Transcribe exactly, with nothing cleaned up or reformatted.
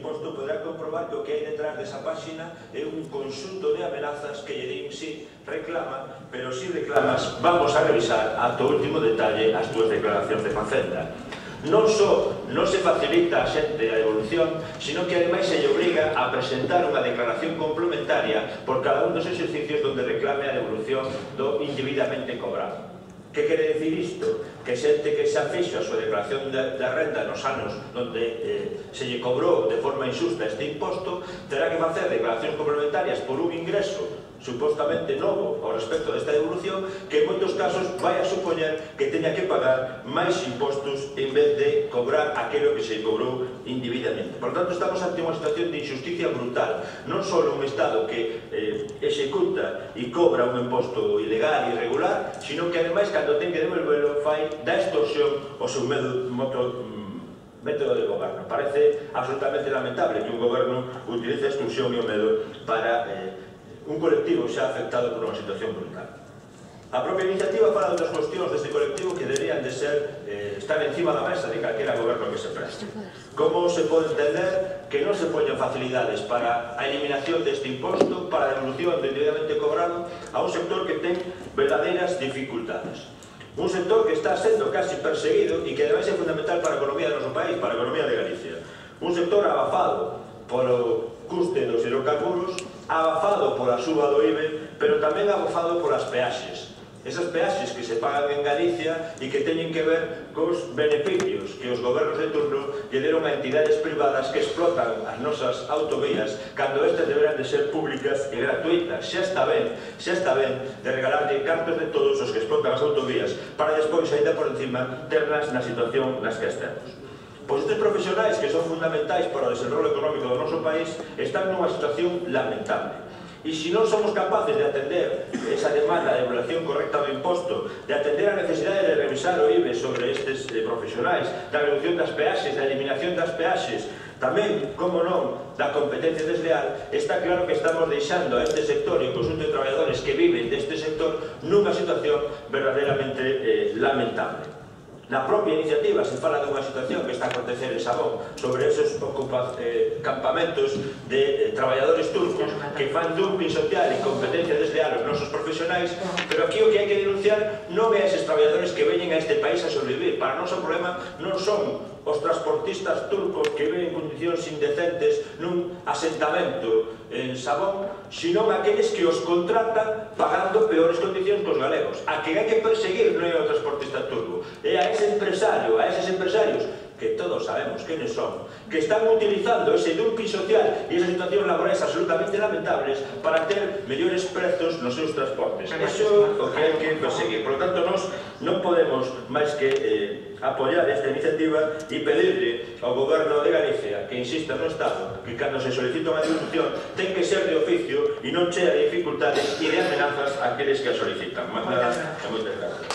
imposto poderá comprobar que o que hai detrás desa páxina é un conxunto de amenazas que lle din si reclama, pero si reclamas vamos a revisar ata o último detalle as túas declaracións de Facenda. Non só non se facilita a xente a evolución, sino que ademais se lle obriga a presentar unha declaración complementaria por cada un dos exercicios onde reclame a devolución do indebidamente cobrado. Que quere dicir isto? Que xente que xa fixo a súa declaración de renda nos anos onde se lle cobrou de forma injusta este imposto terá que facer declaracións complementarias por un ingreso supostamente novo ao respecto desta devolución que en moitos casos vai a supoñer que teña que pagar máis impostos en vez de cobrar aquilo que se cobrou indebidamente. Por tanto, estamos ante unha situación de injusticia brutal, non só un Estado que eh, executa e cobra un imposto ilegal e irregular, sino que ademais cando ten que devolverlo fai da extorsión o seu método método de goberno. Parece absolutamente lamentable que un goberno utilice a extorsión e o medo para eh, un colectivo xa afectado por unha situación brutal. A propia iniciativa fala de outras cuestións deste colectivo que deberían de ser eh, estar encima da mesa de calquera goberno que se preste. Como se pode entender que non se poñen facilidades para a eliminación deste imposto, para a devolución do indebidamente cobrado a un sector que ten verdadeiras dificultades. Un sector que está sendo casi perseguido e que ademais é fundamental para a economía do noso país, para a economía de Galicia. Un sector abafado polo custe dos hidrocarburos, abafado pola suba do I B E, pero tamén abafado polas peaxes. Esas peaxes que se pagan en Galicia e que teñen que ver cos beneficios que os gobernos de turno lle deron a entidades privadas que explotan as nosas autovías cando estas deberán de ser públicas e gratuitas. Xa está ben, xa está ben de regalarlle cartos de todos os que explotan as autovías para despois, ainda por encima, ternas na situación nas que estemos. Pois estes profesionais que son fundamentais para o desenrolo económico do noso país están nunha situación lamentable. E se non somos capaces de atender esa demanda de evaluación correcta do imposto, de atender a necesidade de revisar o I B E sobre estes profesionais, da reducción das peaxes, da eliminación das peaxes, tamén, como non, da competencia desleal, está claro que estamos deixando a este sector e o conxunto de traballadores que viven deste sector nunha situación verdadeiramente eh, lamentable. Na propia iniciativa se fala dunha situación que está a acontecer en Sabón sobre esos eh, campamentos de eh, traballadores turcos que fan dumping social e competencia desleal aos nosos profesionais, pero aquí o que hai que denunciar non é eses traballadores que veñen a este país a sobrevivir. Para nós o problema non son os transportistas turcos que viven en condicións indecentes nun asentamento en Sabón, sino aqueles que os contratan pagando peores condicións que os galegos. A que hai que perseguir non é o transportista turco, é a ese empresario, a eses empresarios que todos sabemos quenes son, que están utilizando ese dumping social e esas situacións laborais absolutamente lamentables para ter mellores prezos nos seus transportes. Eso é o que hai que perseguir. Por lo tanto, nós non podemos máis que eh, apoiar esta iniciativa e pedirle ao Goberno de Galicia que insista no Estado que cando se solicita unha devolución ten que ser de oficio e non chea de dificultades e de amenazas aqueles que a solicitan. Moitas gracias.